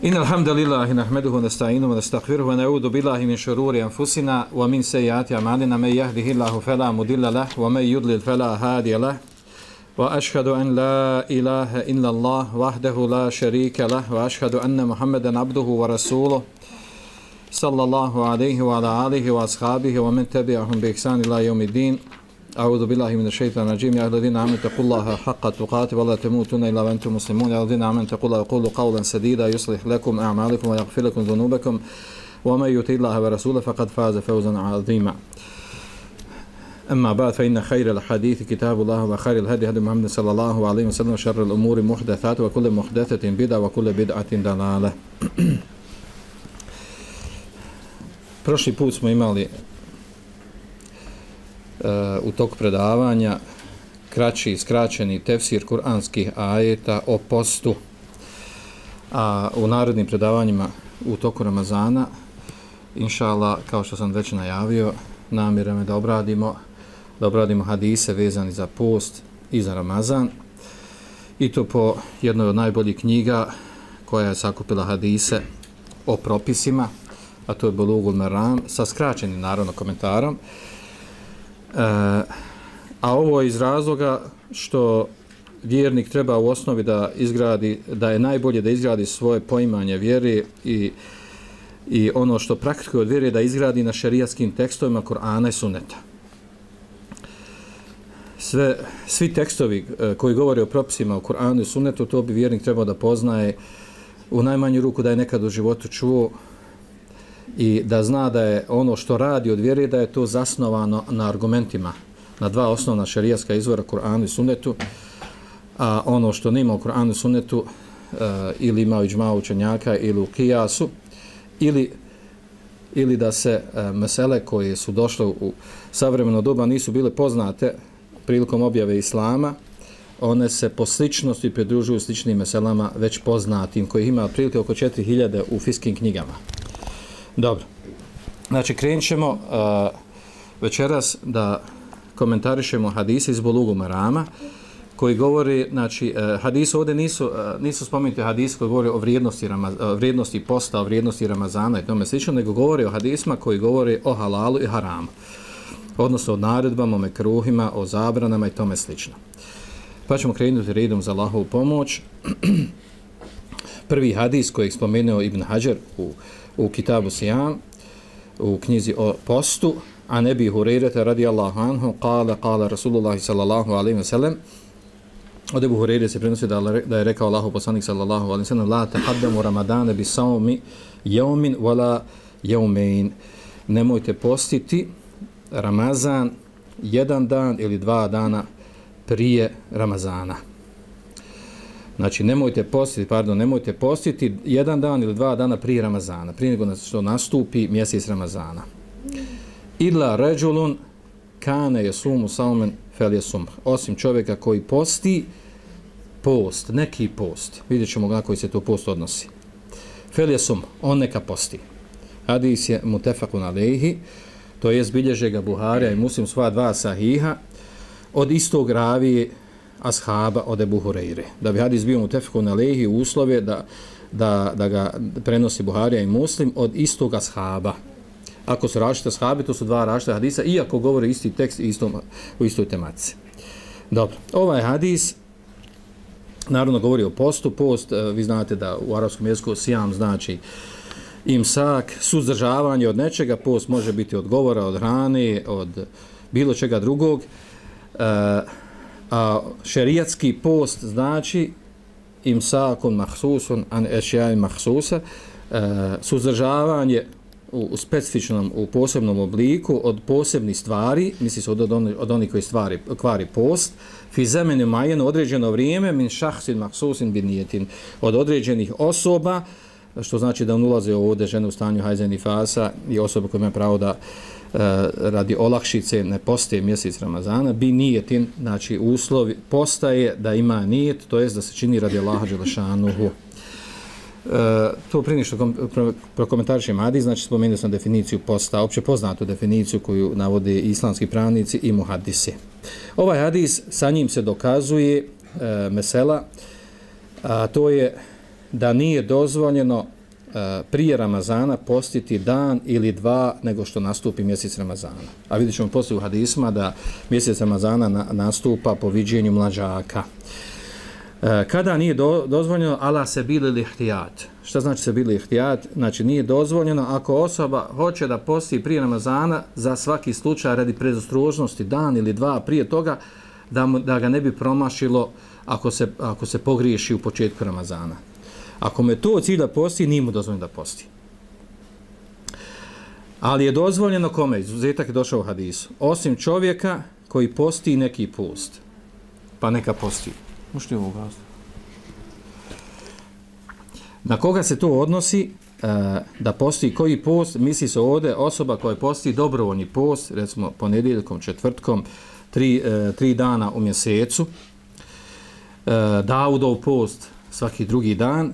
إن الحمد لله نحمده ونستعينه ونستغفره ونعوذ بالله من شرور أنفسنا ومن سيئات أعمالنا من يهده الله فلا مضل له ومن يضلل فلا هادي له وأشهد أن لا إله إلا الله وحده لا شريك له وأشهد أن محمدا عبده ورسوله صلى الله عليه وعلى آله وأصحابه ومن تبعهم بإحسان إلى يوم الدين. أعوذ بالله من الشيطان الرجيم. يا الذين آمنوا اتقوا الله حق تقاته ولا تموتن إلا وأنتم مسلمون. يا الذين آمنوا اتقوا الله وقولوا قولا سديدا يصلح لكم أعمالكم ويغفر لكم ذنوبكم ومن يطع الله ورسوله فقد فاز فوزا عظيما. أما بعد فإن خير الحديث كتاب الله وخير الهدي هدي محمد صلى الله عليه وسلم وشر الأمور محدثات وكل محدثة بدعة وكل بدعة ضلالة. Prošli put smo imali u toku predavanja kraći, skraćeni tefsir kuranskih ajeta o postu, a u narednim predavanjima u toku Ramazana, inšallah, kao što sam već najavio, namjeramo da obradimo hadise vezani za post i za Ramazan, i to po jednoj od najboljih knjiga koja je sakupila hadise o propisima, a to je Bulugul Maram, sa skraćenim naravno komentarom. A ovo je iz razloga što vjernik treba u osnovi da je najbolje da izgradi svoje poimanje vjere i ono što praktikuje od vjere da izgradi na šerijatskim tekstovima Kur'ana i Sunneta. Svi tekstovi koji govore o propisima u Kur'anu i Sunnetu, to bi vjernik trebao da poznaje u najmanju ruku, da je nekad u životu čuo, i da zna da je ono što radi od vjere da je to zasnovano na argumentima, na dva osnovna šerijatska izvora Kur'anu i Sunnetu, a ono što nema u Kur'anu i Sunnetu ili ima u iđma učenjaka ili u kijasu, ili da se mesele koje su došle u savremeno doba nisu bile poznate prilikom objave Islama, one se po sličnosti pridružuju sličnim meselama već poznatim, kojih ima otprilike oko 4000 u fiskim knjigama. Dobro, znači krenut ćemo večeras da komentarišemo hadise iz Bulugul Marama koji govori, znači hadise ovdje nisu spomenuti hadise koji govori o vrijednosti posta, o vrijednosti Ramazana i tome slično, nego govori o hadisima koji govori o halalu i haramu, odnosno o naredbama, o mekruhima, o zabranama i tome slično. Pa ćemo krenuti redom za Allahovu pomoć. Prvi hadis koji je spomenuo Ibn Hajar u Kitabu Sijam, u knjizi o postu, a Ebi Hurajrata radijallahu anhu kala Rasulullah sallallahu alaihi wa sallam, od Ebu Hurajre se prenosi da je rekao Allahov poslanik sallallahu alaihi wa sallam: la tahaddamu ramadane bi saumi jaumin wala jaumein, nemojte postiti Ramazan jedan dan ili dva dana prije Ramazana. Znači nemojte postiti jedan dan ili dva dana prije Ramazana, prije nego što nastupi mjesec Ramazana. Illa ređulun kane jesumu saumen fel jesum, osim čovjeka koji posti post, neki post, vidjet ćemo na koji se to post odnosi. Fel jesum, on neka posti. Hadis je mutefakun alejhi, to je bilježe ga Buharija i Muslim, sva dva sahiha, od istog ravije ashaba od Ebu Hurajre. Da bi hadis bio mutefakun alejhi, uslove da ga prenosi Buharija i Muslim od istog ashaba. Ako su različite ashabi, to su dva različite hadisa, iako govore isti tekst u istoj tematici. Dobro, ovaj hadis naravno govori o postu. Post, vi znate da u arapskom jeziku sijam znači imsak, suzdržavanje od nečega. Post može biti od govora, od hrane, od bilo čega drugog. A šerijatski post znači imsakun mahsusun an ešjaj mahsusa, suzdržavanje u specifičnom, u posebnom obliku od posebnih stvari, misli se od onih koji kvari post, fi zemenu majenu, određeno vrijeme, min šahsin mahsusin bin nijetin, od određenih osoba, što znači da on ulaze ovdje žene u stanju hajza nifasa i osobe koje imaju pravo da radi olakšice ne postaje mjesec Ramazana, bi nijetin, znači uslovi postaje da ima nijet, to jest da se čini radi Allaha dželešanuhu. To prije što prokomentarišem hadis, znači spomenuo sam definiciju posta, opće poznatu definiciju koju navode islamski pravnici i muhadisi. Ovaj hadis, sa njim se dokazuje mesela, a to je da nije dozvoljeno prije Ramazana postiti dan ili dva nego što nastupi mjesec Ramazana. A vidjet ćemo poslije u hadisma da mjesec Ramazana nastupa po viđenju mlađaka. Kada nije dozvoljeno ala se bili lihtijat. Šta znači se bili lihtijat? Znači nije dozvoljeno ako osoba hoće da posti prije Ramazana za svaki slučaj radi predostrožnosti dan ili dva prije toga da ga ne bi promašilo ako se pogriješi u početku Ramazana. Ako me to cilj da posti, nije mu dozvoljeno da posti. Ali je dozvoljeno kome? Izuzetak je došao u hadisu. Osim čovjeka koji posti neki post. Pa neka posti. Možete ovo ugasiti. Na koga se to odnosi da posti koji post? Misli se ovdje osoba koja posti dobrovoljni post, recimo ponedjeljkom, četvrtkom, 3 dana u mjesecu. Daudov post svaki drugi dan.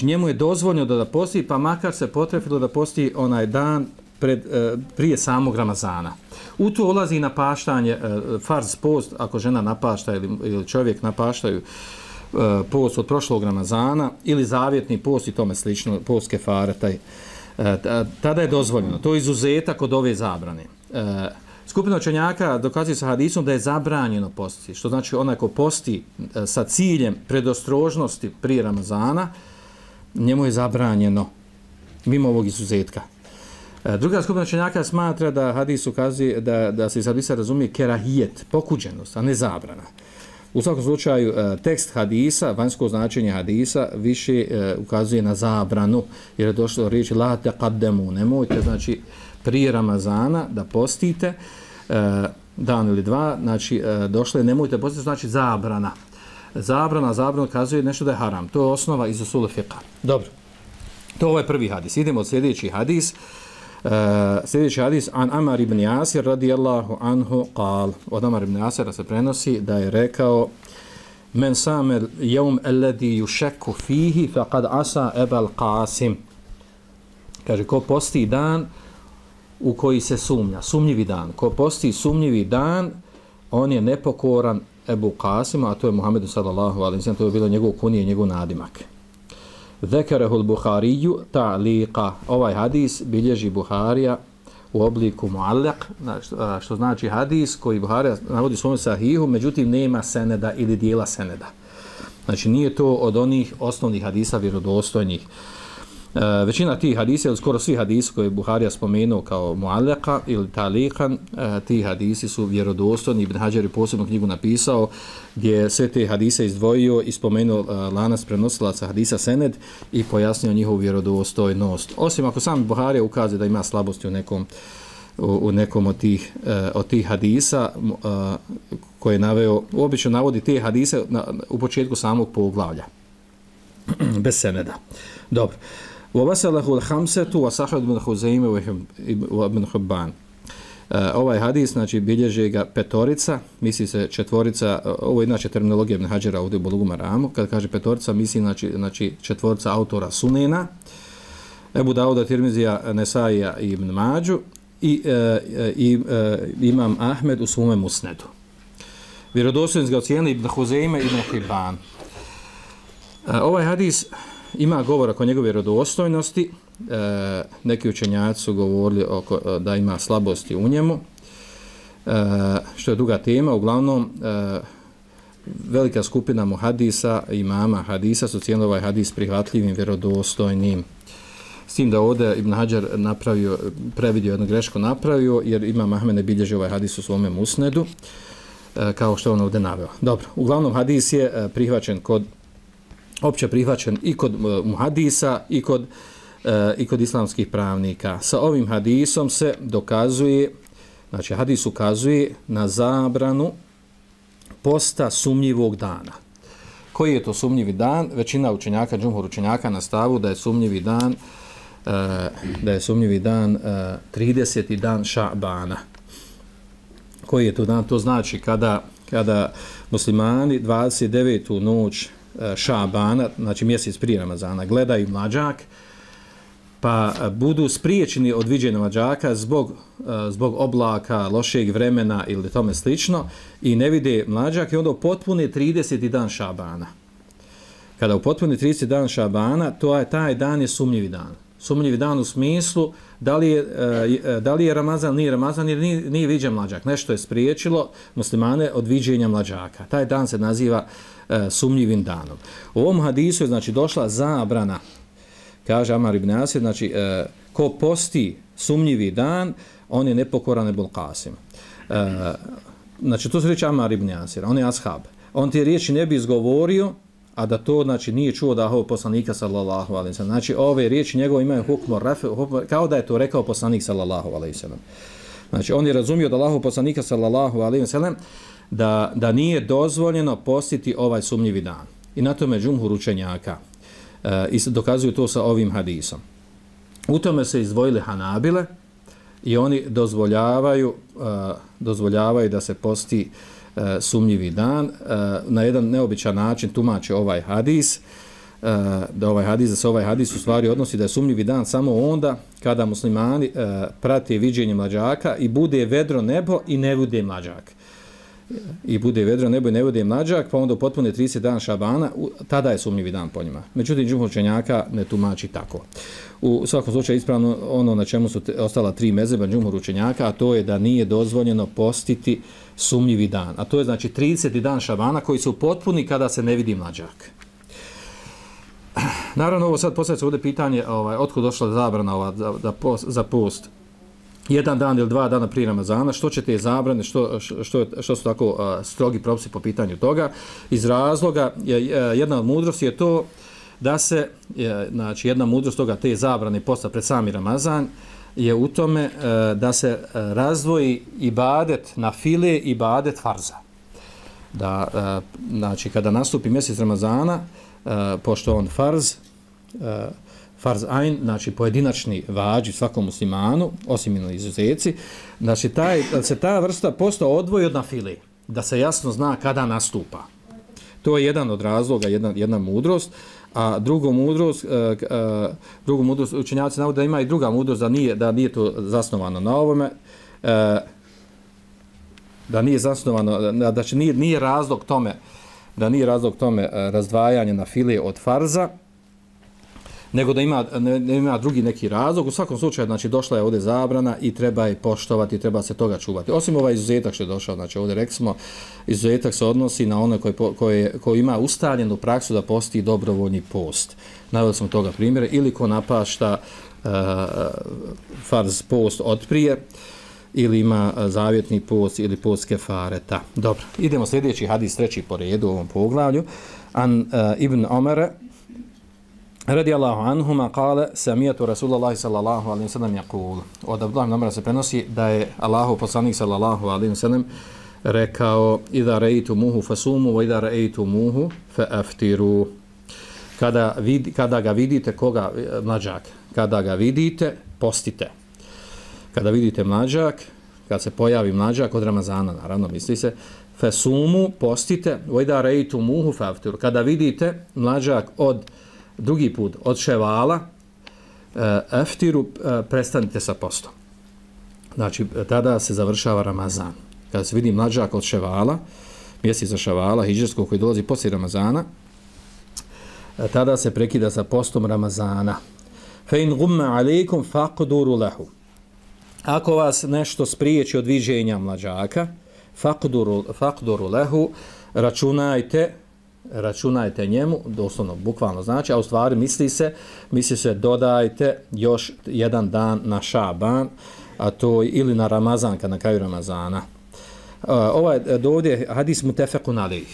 Njemu je dozvoljeno da posti, pa makar se potrefilo da posti onaj dan prije samog Ramazana. U to ulazi i napaštanje, farz post, ako žena napašta ili čovjek napaštaju post od prošlog Ramazana ili zavjetni post i tome slično, post kefare, tada je dozvoljeno. To je izuzetak od ove zabrane. Skupina učenjaka dokazuje sa hadisom da je zabranjeno postiti, što znači onaj ko posti sa ciljem predostrožnosti prije Ramazana, njemu je zabranjeno mimo ovog izuzetka. Druga skupina učenjaka smatra da hadis ukazuje da se iz hadisa razumije kerahijet, pokuđenost, a ne zabrana. U svakom slučaju tekst hadisa, vanjsko značenje hadisa više ukazuje na zabranu, jer je došlo riječ la taqaddemu, nemojte znači prije Ramazana da postite dan ili dva, znači došlo je nemojte postiti, znači zabrana. Zabrana ukazuje nešto da je haram. To je osnova iz usula fiqha. Dobro. To je prvi hadis. Idemo od sljedeći hadis. Sljedeći hadis an Amar ibn Jasir radijallahu anhu qal. Od Amar ibn Jasira se prenosi da je rekao men samel jevm alladhi yushakku fihi faqad asa Abul Qasim. Kaže ko posti dan u koji se sumnja, sumnjivi dan. Ko posti sumnjivi dan, on je nepokoran Ebu Qasima, a to je Muhammedu sallallahu alejhi ve sellem, to je bilo njegov kunije, njegov nadimak. Zekarahu al-Buhariju ta'liqa. Ovaj hadis bilježi Buharija u obliku muallaq, što znači hadis koji Buharija navodi u svom sahihu, međutim nema seneda ili dijela seneda. Znači nije to od onih osnovnih hadisa vjerodostojnih. Većina tih hadisa, ili skoro svi hadisi koje je Buharija spomenuo kao muallaka ili talikan, ti hadisi su vjerodostojni. Ibn Hadžar je posebnu knjigu napisao gdje sve te hadise izdvojio i spomenuo lanac prenosilaca hadisa sened i pojasnio njihovu vjerodostojnost. Osim ako sam Buharija ukazuje da ima slabosti u nekom od tih hadisa koje je naveo, obično navodi te hadise u početku samog poglavlja. Bez seneda. Dobro. وَوَسَلَهُ الْحَمْسَةُ وَسَحَدُ بْنُ خُزَيْمَ وَبْنُ حُبَّانِ. Ovaj hadis, znači, bilježe ga petorica, misli se četvorica, ovo je inače terminologija Ibn Hadžara ovdje u Bulugu Maramu, kad kaže petorica, misli znači četvorica autora Sunena, Ebu Dauda, Tirmizija, Nesaija i Ibn Mađu i Imam Ahmed u svome Musnedu. Vjerodostojnost ga ocijenili Ibn Huzejme i Ibn Hibban. Ovaj hadis ima govor oko njegove vjerodostojnosti. Neki učenjaci su govorili da ima slabosti u njemu, što je druga tema. Uglavnom, velika skupina muhadisa, imama hadisa su ocijenili ovaj hadis prihvatljivim, vjerodostojnim. S tim da ovdje Ibn Hadžar previdio jednu grešku napravio, jer Imam Ahmed ne bilježi ovaj hadis u svome Musnedu, kao što on ovdje naveo. Dobro, uglavnom hadis je prihvaćen opće prihvaćen i kod muhadisa i kod islamskih pravnika. Sa ovim hadisom se dokazuje, znači hadis ukazuje na zabranu posta sumnjivog dana. Koji je to sumnjivi dan? Većina učenjaka, džumhur učenjaka na stavu da je sumnjivi dan 30. dan Ša'bana. Koji je to dan? To znači kada muslimani 29. noć Ša'bana, znači mjesec prije Ramazana, gledaju mlađak, pa budu spriječeni od viđenja mlađaka zbog oblaka, lošeg vremena ili tome slično i ne vide mlađak i onda potpune 30. dan Ša'bana. kada upotpuni 30 dan Šabana, taj dan je sumnjivi dan. Sumnjivi dan u smislu da li je Ramazan, nije Ramazan, jer nije viđen mlađak. Nešto je spriječilo muslimane od viđenja mlađaka. Taj dan se naziva sumnjivim danom. U ovom hadisu je znači došla zabrana, kaže Amar ibn Asir, znači ko posti sumnjivi dan, on je nepokoran Ebul Qasim. Znači to se reći Amar ibn Asir, on je ashab. On te riječi ne bi izgovorio, a da to znači nije čuo da je poslanika sallallahu alejhi ve sellem. Znači ove riječi njegove imaju hukm kao da je to rekao poslanik sallallahu alejhi ve sellem. Znači on je razumio da Allahov poslanika sallallahu alejhi ve sellem da nije dozvoljeno postiti ovaj sumnjivi dan. I na tome džumhur učenjaka i dokazuju to sa ovim hadisom. U tome se izdvojili Hanabile i oni dozvoljavaju da se posti sumnjivi dan. Na jedan neobičan način tumače ovaj hadis, da se ovaj hadis u stvari odnosi da je sumnjivi dan samo onda kada muslimani prate viđenje mlađaka i bude vedro nebo i ne bude mlađak. I bude vedro nebo i ne bude mlađak, pa onda potpune 30 dana Šabana, tada je sumnjivi dan po njima. Međutim, džumhur učenjaka ne tumači tako. U svakom slučaju ispravno ono na čemu su ostala 3 mezheba džumhur učenjaka, a to je da nije dozvoljeno postiti sumnjivi dan. A to je znači 30. dan Šabana koji su potpuni kada se ne vidi mlađak. Naravno, ovo sad postavlja se ovdje pitanje otkud došla zabrana za post. 1 dan ili 2 dana prije Ramazana, što će te zabrane, što su tako strogi propisi po pitanju toga? Iz razloga, jedna od mudrosti je to da se, znači jedna mudrost toga, te zabrane posta pred sami Ramazan, je u tome da se razdvoji ibadet na file i ibadet farza. Da, znači kada nastupi mjesec Ramazana, pošto on farz ain, znači pojedinačni vađi svakom muslimanu, osim izuzeci, znači se ta vrsta posta odvoji od nafile, da se jasno zna kada nastupa. To je jedan od razloga, jedna mudrost, a drugu mudrost učenjaci navode da ima i druga mudrost, da nije to zasnovano na ovome, da nije zasnovano, da nije razlog tome razdvajanje nafile od farza, nego da ima drugi neki razlog. U svakom slučaju, znači, došla je ovdje zabrana i treba je poštovati, treba se toga čuvati. Osim ovaj izuzetak što je došao, znači ovdje rekli smo, izuzetak se odnosi na one koji ima ustaljenu praksu da posti dobrovoljni post. Naveli smo toga primjere, ili ko napašta farz post otprije, ili ima zavjetni post ili post kefareta. Dobro, idemo sljedeći hadis, 3. po redu u ovom poglavlju. An Ibn Omara radijallahu anhuma kale samijatu Rasulullahi sallallahu alaihi wa sallam yaqul. Od Abdullah ibn Omara se prenosi da je Allahov poslanik sallallahu alaihi wa sallam rekao idha ra'aytumuhu fasumu wa idha ra'aytumuhu fa'aftiru. Kada ga vidite, koga mlađak, kada ga vidite, postite. Kada vidite mlađak, kad se pojavi mlađak od Ramazana, naravno misli se, fasumu, postite, wa idha ra'aytumuhu fa'aftiru. Kada vidite mlađak drugi put od ševala, aftiru, prestanite sa postom. Znači, tada se završava Ramazan. Kada se vidi mlađak od ševala, mjeseca ševala, hidžrskog koji dolazi poslije Ramazana, tada se prekida sa postom Ramazana. Fe in gumma alejkum faqduru lahu. Ako vas nešto spriječi od viđenja mlađaka, faqduru lahu, računajte njemu, doslovno, bukvalno znači, a u stvari misli se dodajte još 1 dan na Šaban, a to ili na Ramazan, kad na kraju Ramazana. Ovdje hadis mutefekun alejh,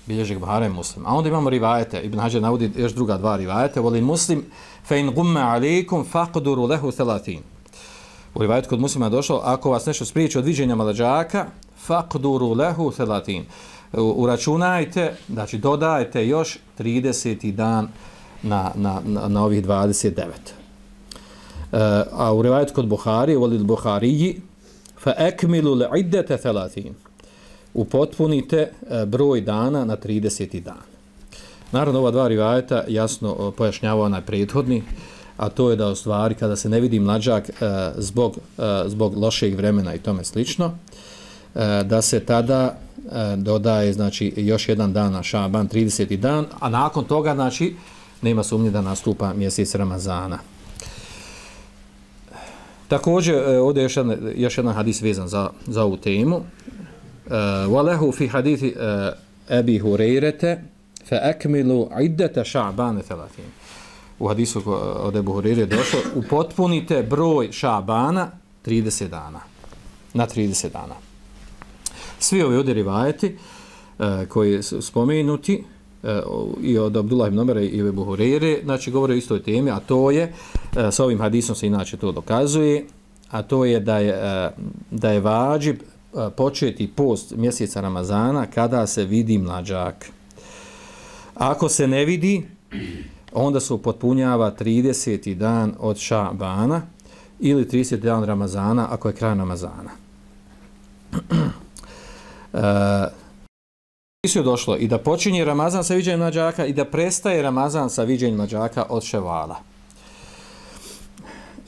bilježi ga Buhari Muslim. A onda imamo rivajete, Ibn Hađar navodi još druga 2 rivajete, voli Muslim, fe in gumme alejkum faqduru lehu 30. U rivajetu kod Muslima je došlo, ako vas nešto spriječi od viđenja mlađaka, faqduru lehu 30. Uračunajte, znači dodajte još 30. dan na ovih 29. A u rivajetu kod Buhari, volil Buhariji, fa ekmilu l'iddete 30. Upotpunite broj dana na 30. dan. Naravno, ova 2 rivajeta jasno pojašnjava onaj prethodni, a to je da u stvari kada se ne vidi mlađak zbog lošeg vremena i tome slično, da se tada dodaje znači još jedan dan na Šaban, 30. dan, a nakon toga znači nema sumnje da nastupa mjesec Ramazana. Također ovdje je još jedan hadis vezan za ovu temu. Walehu fi hadithi Abi Hurajrete fa akmilu iddata Ša'bana 30. U hadisu od Ebu Hurajre je došlo upotpunite broj Ša'bana 30 dana. Na 30 dana. Svi ovi ovdje rivajeti koji su spomenuti i od Abdullah ibn Omera i Ebu Hurajre, znači govore o istoj temi, a to je, sa ovim hadisom se inače to dokazuje, a to je da je vađib početi post mjeseca Ramazana kada se vidi mlađak. Ako se ne vidi, onda se upotpunjava 30. dan od Ša'bana ili 30. dan Ramazana ako je kraj Ramazana. Je došlo i da počinje Ramazan sa viđenjem mlađaka i da prestaje Ramazan sa viđenjem mlađaka od Ševala.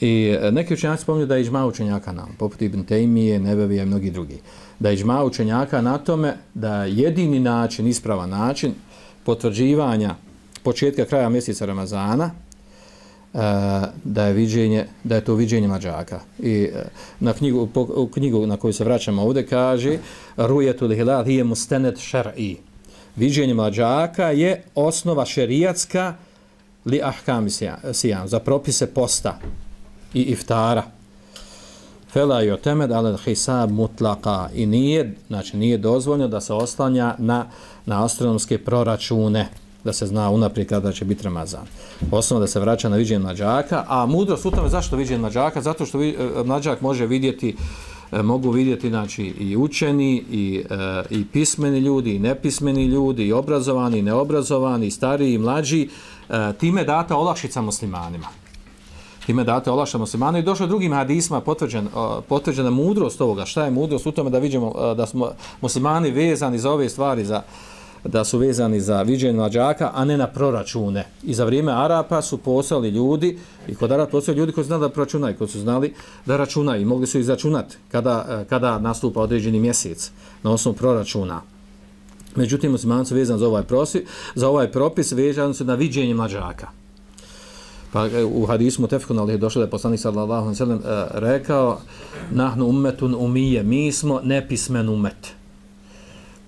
I neki učenjaci spominju da je iđma učenjaka nam, poput Ibn Tejmije, Nebevija i mnogi drugi. Da je iđma učenjaka na tome da jedini način, ispravan način potvrđivanja početka kraja mjeseca Ramazana da je to viđenje mlađaka. I u knjigu na koju se vraćamo ovdje kaže Rujetul hilal hiye mustanad šar'i. Viđenje mlađaka je osnova šerijatska li ahkam sijam, za propise posta i iftara. Fela yu'tamad ala al-hisab mutlaqa. I nije dozvoljeno da se oslanja na astronomske proračune, da se zna unaprijed kada će biti Ramazan. Osnovno da se vraća na viđenje mlađaka, a mudrost u tome zašto viđenje mlađaka? Zato što mlađak može vidjeti, mogu vidjeti znači i učeni i pismeni ljudi i nepismeni ljudi i obrazovani i neobrazovani i stariji i mlađi, time data olakšica muslimanima. Time date olakšica muslimanima i došlo drugim hadisma potvrđena mudrost ovoga. Šta je mudrost u tome da vidimo da smo muslimani vezani za ove stvari, da su vezani za viđenje mlađaka, a ne na proračune. I za vrijeme Arapa su poslali ljudi, i kod Arapa poslali ljudi koji su znali da proračunaju, koji su znali da računaju i mogli su izračunati kada nastupa određeni mjesec na osnovu proračuna. Međutim, muslimani su vezani za ovaj propis vezani su na viđenje mlađaka. Pa u hadisu Mutefekun alejhi je došlo da je poslanik sallallahu alejhi ve sellem rekao nahnu ummetun umije, mi smo nepismen umet.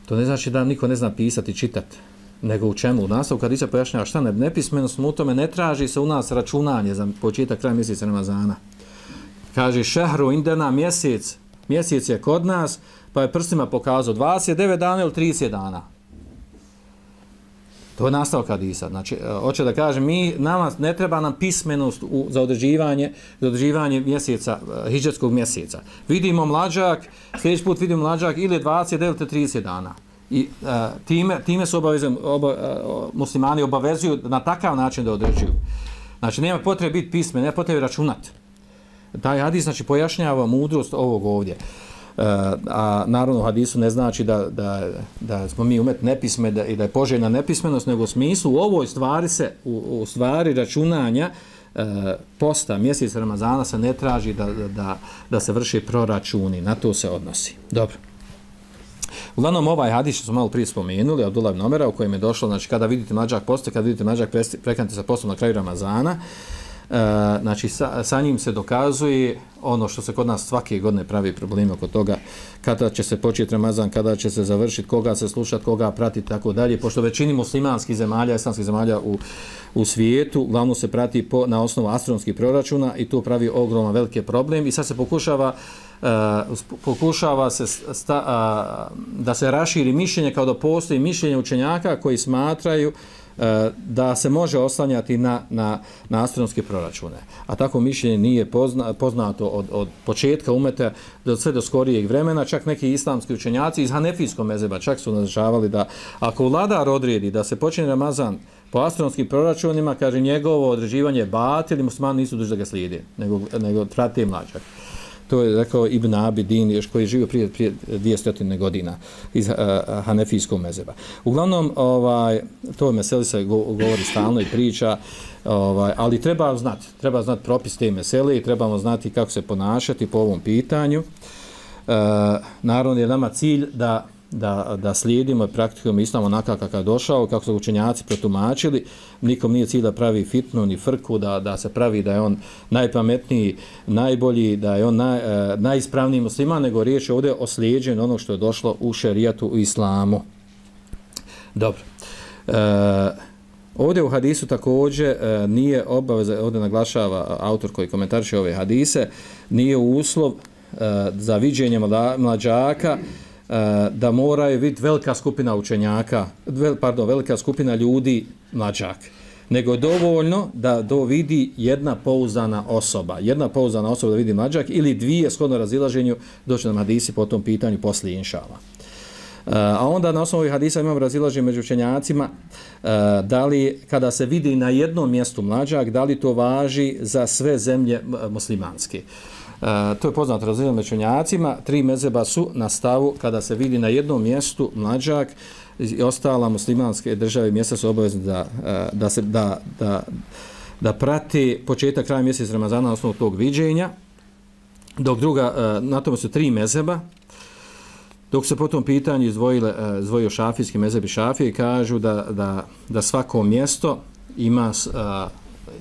To ne znači da niko ne zna pisati i čitati, nego u čemu? U nastavku hadisa pojašnjava šta nepismenost u tome ne traži se u nas računanje za početak kraja mjeseca Ramazana. Kaže šehru indena mjesec je kod nas, pa je prstima pokazao 29 dana ili 30 dana. To je nastavak hadisa. Znači, hoće da kažem, nama ne treba nam pismenost za određivanje mjeseca, hidžetskog mjeseca. Vidimo mlađak, sljedeći put vidimo mlađak ili 29 ili 30 dana. I time se muslimani obavezuju na takav način da određuju. Znači, nema potrebe biti pismen, nema potrebe računati. Taj hadis znači, pojašnjava mudrost ovog ovdje. A naravno u hadisu ne znači da smo mi umet nepisme i da je poželjna nepismenost, nego u smislu u ovoj stvari se, u stvari računanja posta mjeseca Ramazana se ne traži da se vrši proračuni, na to se odnosi. Dobro. Uglavnom ovaj hadis što smo malo prije spomenuli, Abdullah ibn Omera, u kojem je došlo, znači kada vidite mlađak poste, kada vidite mlađak prekanite sa postom na kraju Ramazana, znači sa njim se dokazuje ono što se kod nas svake godine pravi problemi oko toga, kada će se početi Ramazan, kada će se završiti, koga se slušati, koga pratiti, tako dalje, pošto većini muslimanskih zemalja, islamskih zemalja u svijetu, glavno se prati na osnovu astronomskih proračuna i to pravi ogroman velike problem i sad se pokušava se da se raširi mišljenje kao da postoji mišljenje učenjaka koji smatraju da se može oslanjati na astronomske proračune. A tako mišljenje nije poznato od početka umeta sve do skorijeg vremena. Čak neki islamski učenjaci iz hanefijskog mezheba čak su naznačavali da ako vladar odredi da se počne Ramazan po astronomskim proračunima, kaže njegovo određivanje je batil i muslimani nisu dužni da ga slijede, nego prate mlađak. To je rekao Ibn Abidin, još koji je živio prije 200 godina iz hanefijskog mezheba. Uglavnom, to meseli se govori stalno i priča, ali treba znati propis te mesele i trebamo znati kako se ponašati po ovom pitanju. naravno je nama cilj da slijedimo i praktikujemo islam onakav kakav je došao, kako su učenjaci protumačili. Nikom nije cilj da pravi fitnu ni frku, da se pravi da je on najpametniji, najbolji, da je on najispravniji musliman, nego riječ je ovdje o slijeđenju onog što je došlo u šerijatu, u islamu. Dobro. Ovdje u hadisu također nije obaveza, ovdje naglašava autor koji komentariše ove hadise, nije uslov za viđenje mlađaka da moraju vidjeti velika skupina učenjaka, velika skupina ljudi mlađak, nego dovoljno da vidi jedna pouzdana osoba da vidi mlađak ili dvije shodno razilaženju, doći nam hadisi po tom pitanju poslije inšala. A onda na osnovu ovih hadisa imamo razilaženje među učenjacima da li kada se vidi na jednom mjestu mlađak, da li to važi za sve zemlje muslimanske. To je poznato razilaženje među učenjacima. 3 mezheba su na stavu kada se vidi na jednom mjestu mlađak i ostala muslimanske države i mjesta su obavezni da prati početak kraja mjeseca Ramazana na osnovu tog viđenja, dok na tome su 3 mezheba. Dok se po tom pitanju izdvojio šafijski mezheb i šafije i kažu da svako mjesto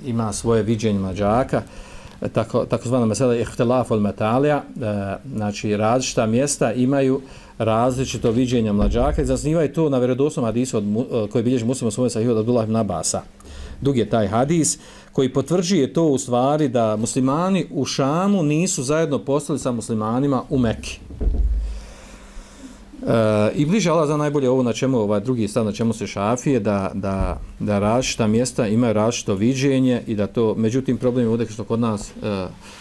ima svoje viđenje mlađaka, takozvana mesela ihtilaf al metalija, znači različita mjesta imaju različito viđenje mlađaka i zasnivaju to na vjerodostojnom hadisu koji bilježi Muslim u svome sahihu od Abdullah ibn Abasa. Dug je taj hadis koji potvrđuje to u stvari da muslimani u Šamu nisu zajedno postali sa muslimanima u Mekki. I bliže Allah za najbolje ovo na čemu drugi stav na čemu se šafije da različita mjesta imaju različito viđenje i da to, međutim problem je ovdje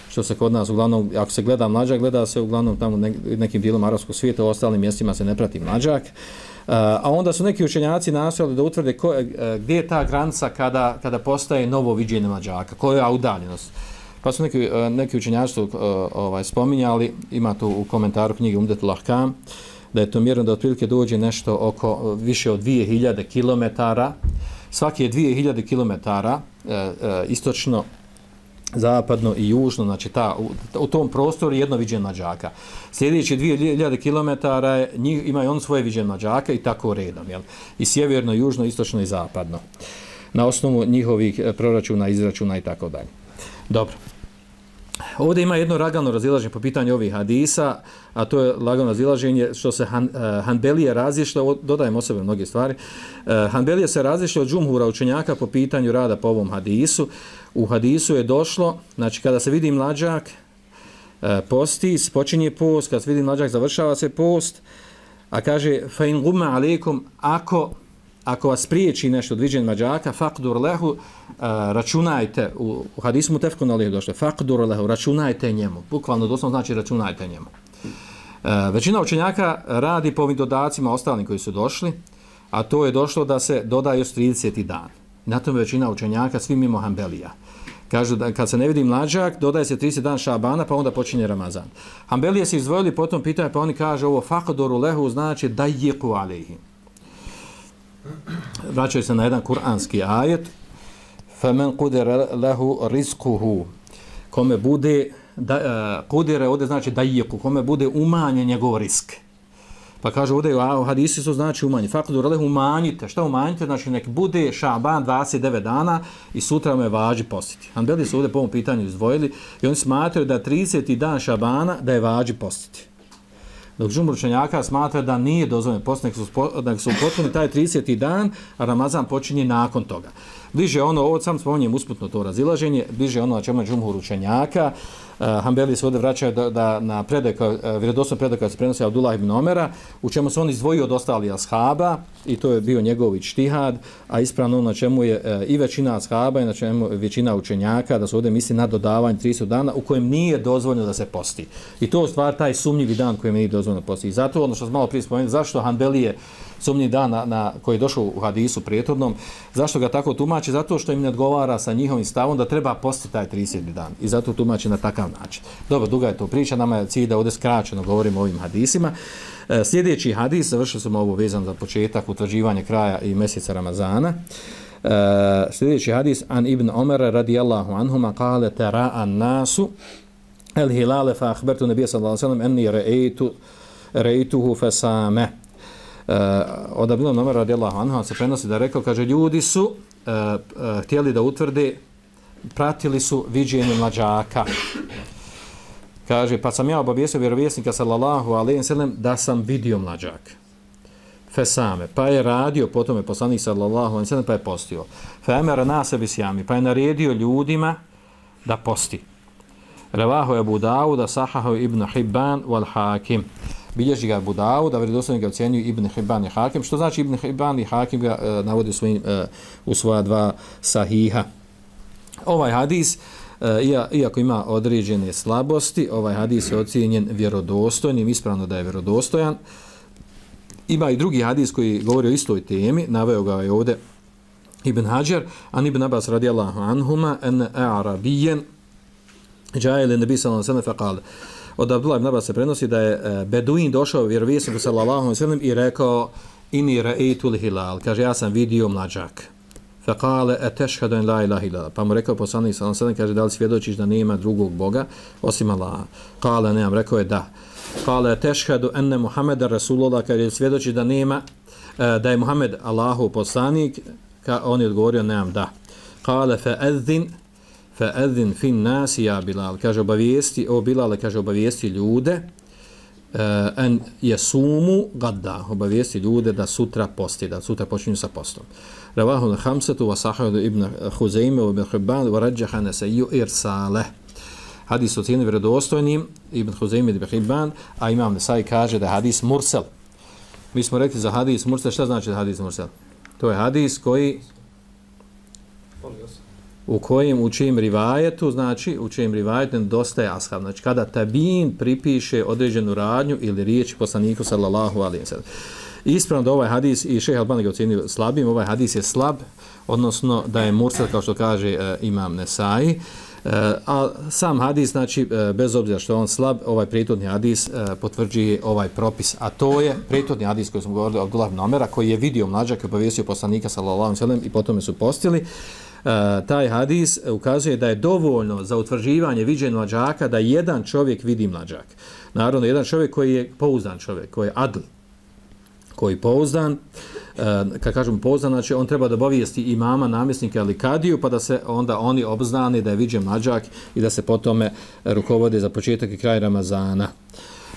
što se kod nas uglavnom, ako se gleda mlađak, gleda se uglavnom tamo nekim dijelom arapskog svijeta, u ostalim mjestima se ne prati mlađak. A onda su neki učenjaci nastojali da utvrde gdje je ta granica kada postaje novo viđenje mlađaka, koja je udaljenost. Pa su neki učenjaci spominjali, ima to u komentaru knjige Umdetul Ahkam, da je to mjerno da otprilike dođe nešto oko više od 2000 km, svake 2000 km istočno, zapadno i južno, znači u tom prostoru jedno viđenje mlađaka. Sljedeći 2000 km imaju on svoje viđenje mlađaka i tako redom, jel? I sjeverno, južno, istočno i zapadno. Na osnovu njihovih proračuna, izračuna i tako dalje. Dobro. Ovdje ima jedno lagano razilaženje po pitanju ovih hadisa, a to je lagano razilaženje što se Hanbelije razišle, dodajem o sebe mnoge stvari, Hanbelije se razišle od džumhura učenjaka po pitanju rada po ovom hadisu. U hadisu je došlo, znači kada se vidi mlađak, posti, počinje post, kada se vidi mlađak, završava se post, a kaže fa in gumma alejkum, ako vas priječi nešto od viđenja mlađaka, faqdur lehu, računajte, u hadisu mutefekun alejhi došlo, faqdur lehu, računajte njemu, bukvalno doslovno znači računajte njemu. Većina učenjaka radi po ovim dodacima ostalim koji su došli, a to je došlo da se doda još 30. dan. Na tome većina učenjaka, svi mimo Hanbelija. Kažu da kad se ne vidi mlađak, dodaje se 30 dan Šabana, pa onda počinje Ramazan. Hanbelije se izdvojili po tom pitanju, pa oni kažu ovo faqdur lehu znači dajiku alejhi. Vraćaju se na jedan kuranski ajet فَمَنْ قُدِرَ لَهُ رِزْقُهُ kome bude kudire ovdje znači dajiku, kome bude umanjen njegov risk. Pa kaže ovdje u hadisu su znači umanji. Fakdur lehu umanjite. Šta umanjite? Znači nek bude Šaban 29 dana i sutra me važi postiti. Hanbeli su ovdje po ovom pitanju izdvojili i oni smatraju da 30. dan Šabana da je važi postiti. Dok džumhur učenjaka smatra da nije dozvoljeno postiti, nek su potpuni taj 30. dan, a Ramazan počinje nakon toga. Bliže ono, ovo sam spominjem usputno to razilaženje, bliže ono na čemu je džumhur učenjaka. Hanbeli se ovdje vraćaju da na vjerodostojnom predaju kada se prenosi Abdullah ibn Omera, u čemu se on izdvojio od ostali ashaba i to je bio njegov ičtihad, a ispravno na čemu je i većina ashaba i na čemu većina učenjaka, da se ovdje misli na dodavanje 30 dana u kojem nije dozvoljeno da se posti. I to je stvar taj sumnjivi dan kojem nije dozvoljeno posti. I zato ono što smo malo prije spomenuli, zašto Hanbelije sumnji dan koji je došao u hadisu prijethodnom, zašto ga tako tumači? Zato što im ne odgovara sa njihovim stavom da treba postiti taj 30. dan. I zato tumači na takav način. Dobro, duga je to priča, nama je cilj da ovdje skraćeno govorimo o ovim hadisima. Sljedeći hadis, završili smo ovo vezano za početak, utvrđivanje kraja i mjeseca Ramazana. Sljedeći hadis, an ibn Omer radijallahu anhuma kale tera'a nasu el hilale fa akhbartu nabija sallallahu alejhi ve sellem enni ra'aytuhu fasama. Od Abdullah ibn Umar radijallahu anhu se prenosi da je rekao, kaže, ljudi su htjeli da utvrde, pratili su viđenje mlađaka. Kaže, pa sam ja obavijestio vjerovjesnika sallallahu alejhi ve sellem da sam vidio mlađak. Fesame, pa je radio, potom je poslanik sallallahu alejhi ve sellem pa je postio. Fa amara nase bisjami, pa je naredio ljudima da posti. Revahu Abu Dawud, sahahu Ibn Hibban wal Hakim. Bilježi ga Abu Dawud, a vjerodostojno ga ocjenjuju Ibn Hibban i Hakim. Što znači Ibn Hibban i Hakim ga navodi u svoja dva sahiha. Ovaj hadis, iako ima određene slabosti, ovaj hadis je ocijenjen vjerodostojnim, ispravno da je vjerodostojan. Ima i drugi hadis koji govori o istoj temi, naveo ga je ovdje Ibn Hajar, an Ibn Abbas radijallahu anhuma, en a'rabijen, džajele nebi sallallahu alejhi ve sellem faqal. Od Abdullah ibn Abbas se prenosi da je beduin došao vjerovjesniku sallallahu alejhi ve sellem i rekao inni ra'aytul hilal, kaže ja sam vidio mlađak. Faqala atashhadu an la ilaha illallah. Pa mu rekao poslanik sallallahu alejhi ve sellem, kaže da li svjedočiš da nema drugog boga osim Allaha? Kale nemam, rekao je da. Kale atashhadu anna Muhammeda rasulullah, kaže svjedoči da nema, da je Muhammed Allahov poslanik, on je odgovorio nemam, da. Kale fa'adhin fin nas ja Bilal, kaže obavijesti, o Bilale, kaže obavijesti ljude en yasumu gadda, obavijesti ljude da sutra posti, da sutra počinju sa postom. Ravahu al-khamsatu wa sahahu ibn Huzayme wa ibn Hibban wa rajjaha Nasai irsaleh. Hadis ocjenjuje vjerodostojnim ibn Huzayme i ibn Hibban, a imam Nasai kaže da je hadis mursel. Mi smo rekli za hadis mursel, šta znači hadis mursel? To je hadis koji u čijem rivajetu, znači u čijem rivajetu nedostaje ashab. Znači kada tabin pripiše određenu radnju ili riječ poslaniku sallallahu alejhi ve sellem. Ispravno da ovaj hadis, i šejh Albani ga ocjenio slabim, ovaj hadis je slab, odnosno da je mursel, kao što kaže imam Nesai. A sam hadis, znači bez obzira što je on slab, ovaj prethodni hadis potvrđuje ovaj propis, a to je prethodni hadis koji smo govorili od Abdullah ibn Omera, koji je vidio mlađaka i obavijestio poslanika sallallahu alejhi ve sellem i potom su postili. Taj hadis ukazuje da je dovoljno za utvrđivanje viđenja mlađaka da jedan čovjek vidi mlađak. Naravno, jedan čovjek koji je pouzdan čovjek, koji je adl, koji je pouzdan, kad kažemo pouzdan, znači on treba da obavijesti imama, namjesnika ili kadiju, pa da se onda oni obznani da je viđen mlađak i da se potome rukovode za početak i kraj Ramazana.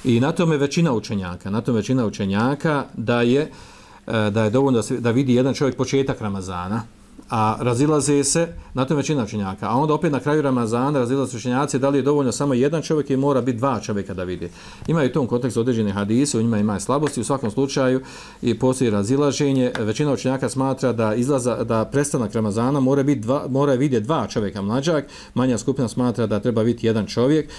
I na tome većina učenjaka, da je dovoljno da vidi jedan čovjek početak Ramazana, a razilaze se, na tom većina učenjaka, a onda opet na kraju Ramazana razilaze se učenjaci da li je dovoljno samo jedan čovjek i mora biti dva čovjeka da vidi. Imaju u tom kontekstu određene hadise, u njima ima slabosti, u svakom slučaju i postoji razilaženje. Većina učenjaka smatra da prestanak Ramazana mora vidjeti dva čovjeka mlađak, manja skupina smatra da treba vidjeti jedan čovjek,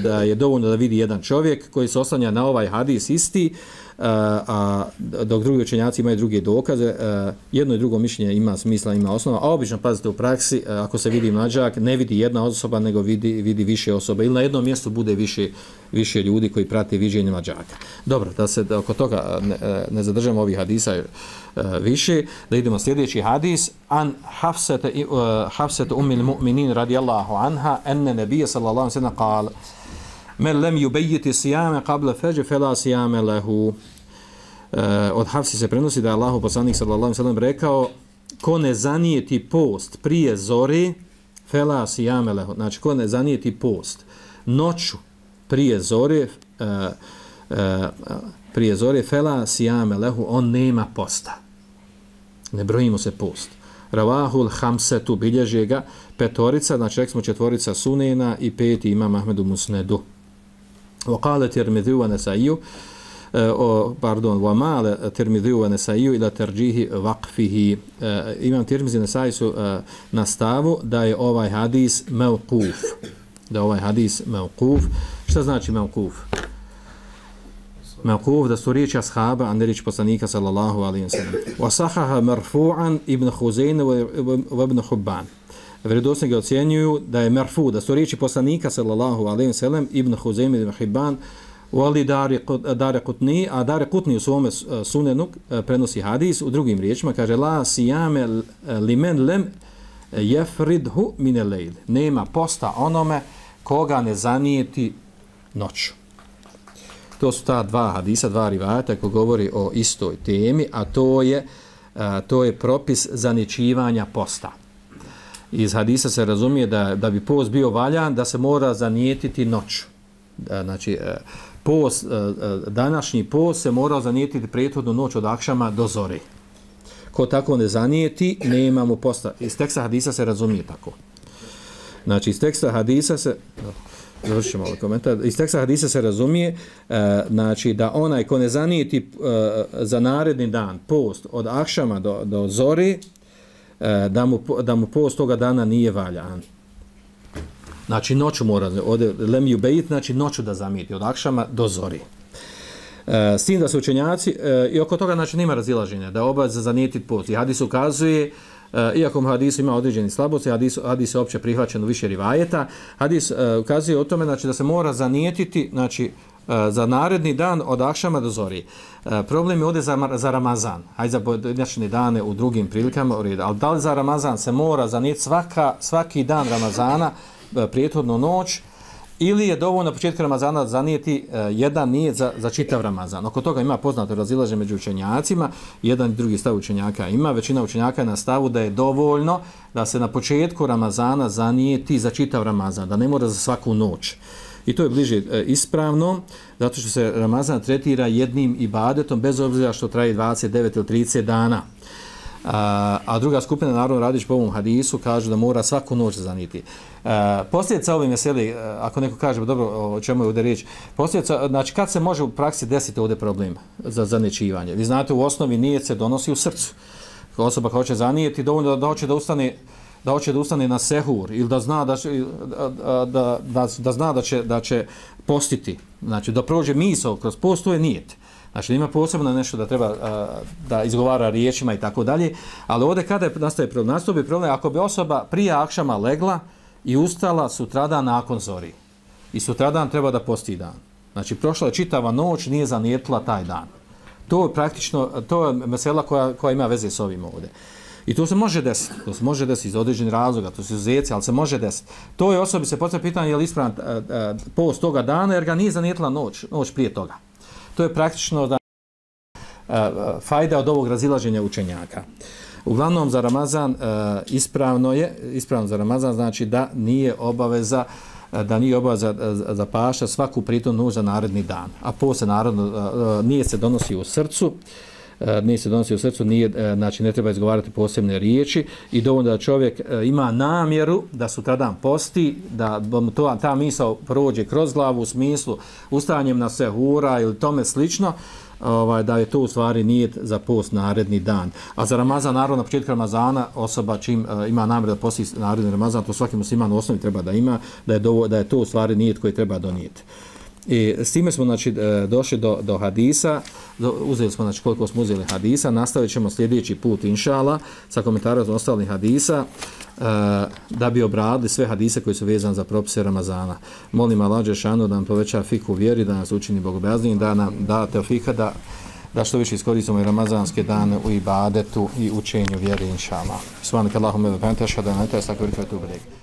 da je dovoljno da vidi jedan čovjek koji se oslanja na ovaj hadis isti, a dok drugi učenjaci imaju druge dokaze, jedno i drugo mišljenje ima smisla, ima osnova, a obično, pazite, u praksi, ako se vidi mlađak, ne vidi jedna osoba, nego vidi više osoba, ili na jednom mjestu bude više ljudi koji prate viđenje mlađaka. Dobro, da se oko toga ne zadržamo ovih hadisa više, da idemo sljedeći hadis. An Hafsete ummil mu'minin radijallahu anha, enne nebije sallallahu alaihi sallam qala men lem yubayyiti siyama qabla fajr fala siyama lahu. Od Hafsi se prenosi da je Allahov poslanik sallallahu alejhi ve sellem rekao ko ne zanijeti post prije zore fala siyama lahu. Znači ko ne zanijeti post noću prije zore fala siyama lahu, on nema posta. Ne brojimo se post. Ravahul hamsetu, bilježe ga petorica, znači rekli smo četvorica Sunena i peti imam Ahmedu Musnedu. وقال ترمذي ونسائي ومال ترمذي ونسائي الى ترجيح وقفه. Imam Tirmizi i Nesai su na stavu da je ovaj hadis mevkuf. Šta znači mevkuf? Mevkuf da su riječi ashaba, a ne riječi poslanika sallallahu alejhi ve sellem. Wa sahaha marfu'an ibn Huzayne wa ibn Hibban. Vjerodostojni ga ocjenjuju da je marfu, da su riječi poslanika sallallahu alejhi ve sellem, Ibn Huzayme ibn Hibban, wali Daraqutni, a Daraqutni u svome sunenu prenosi hadis u drugim riječima, kaže la siyame limen lem yafridhu min al-layl. Nema posta onome koga ne zanijeti noću. To su ta dva hadisa, dva rivajata koji govori o istoj temi, a to je propis zanijećivanja posta. Iz hadisa se razumije da bi post bio valjan, da se mora zanijetiti noću. Znači, post, današnji post se mora zanijetiti prethodnu noć od akšama do zore. Ko tako ne zanijeti, ne imamo posta. Iz teksta hadisa se razumije tako. Znači, iz teksta hadisa se... Završimo ovaj komentar. Iz teksta hadisa se razumije znači da onaj ko ne zanijeti za naredni dan post od akšama do zori, da mu post toga dana nije valjan. Znači noću mora, ovdje lem yubeit, znači noću da zamijeti od akšama do zori. S tim da su učenjaci, i oko toga znači nema razilaženja, da je obaveza zanijetiti post. I hadis ukazuje, iako mu hadisu ima određeni slabosti, hadis je opće prihvaćen u više rivajeta, hadis ukazuje o tome znači, da se mora zanijetiti znači, za naredni dan od akšama do zori. Problem je ovdje za Ramazan, hajde za pojedinačne dane u drugim prilikama, ali da li za Ramazan se mora zanijeti svaki dan Ramazana, prethodnu noć, ili je dovoljno na početku Ramazana zanijeti jedan nijet za čitav Ramazan. Oko toga ima poznato razilaženje među učenjacima, jedan i drugi stav učenjaka ima, većina učenjaka je na stavu da je dovoljno da se na početku Ramazana zanijeti za čitav Ramazan, da ne mora za svaku noć. I to je bliže ispravno, zato što se Ramazan tretira jednim ibadetom, bez obzira što traje 29 ili 30 dana. A druga skupina, naravno radić po ovom hadisu, kaže da mora svaku noć zanijeti. Posljedica ove meseli, ako neko kaže, dobro, o čemu je ovdje riječ, posljedica, znači kad se može u praksi desiti ovdje problem za zaniječivanje? Vi znate, u osnovi nijet se donosi u srcu. Osoba koja hoće zanijeti, dovoljno da hoće da ustane na sehur ili da zna da će postiti. Znači da prođe misao kroz post, to je nijet. Znači ima posebno nešto da treba da izgovara riječima i tako dalje, ali ovdje kada nastaje problem, ako bi osoba prije akšama legla i ustala sutradan nakon zori i sutradan treba da posti dan. Znači prošla je čitava noć, nije zanijetila taj dan. To je praktično, to je mesela koja ima veze s ovim ovdje. I to se može desiti iz određenih razloga, to su izuzeci, ali se može desiti. To je osobi se postavlja pitanje je li ispravan post toga dana jer ga nije zanijetila noć prije toga. To je praktično da fajda od ovog razilaženja učenjaka. Uglavnom za Ramazan ispravno za Ramazan znači da nije obaveza za paša svaku prethodnu noć za naredni dan. A poslije naravno nije se donosi u srcu, znači ne treba izgovarati posebne riječi i dovoljno da čovjek ima namjeru da sutradan posti, da ta misao prođe kroz glavu u smislu ustajanjem na sehura ili tome slično, da je to u stvari nijet za post naredni dan. A za Ramazan, naravno na početku Ramazana osoba čim ima namjeru da posti naredni Ramazan, to svaki musliman u osnovi treba da ima, da je to u stvari nijet koji treba donijeti. I s time smo znači, došli do hadisa, uzeli smo znači, koliko smo uzeli hadisa, nastavit ćemo sljedeći put inšala sa komentarom ostalih hadisa da bi obradili sve hadise koji su vezani za propise Ramazana. Molim Allah dželešanu da nam poveća fiku u vjeri, da nas učini bogobojaznim, da nam da teofika da što više iskoristimo i ramazanske dane u ibadetu i učenju vjeri inšala. Subhanaka Allahumma wa bihamdika, ashhadu an la ilaha illa anta, astaghfiruka wa atubu ilayk.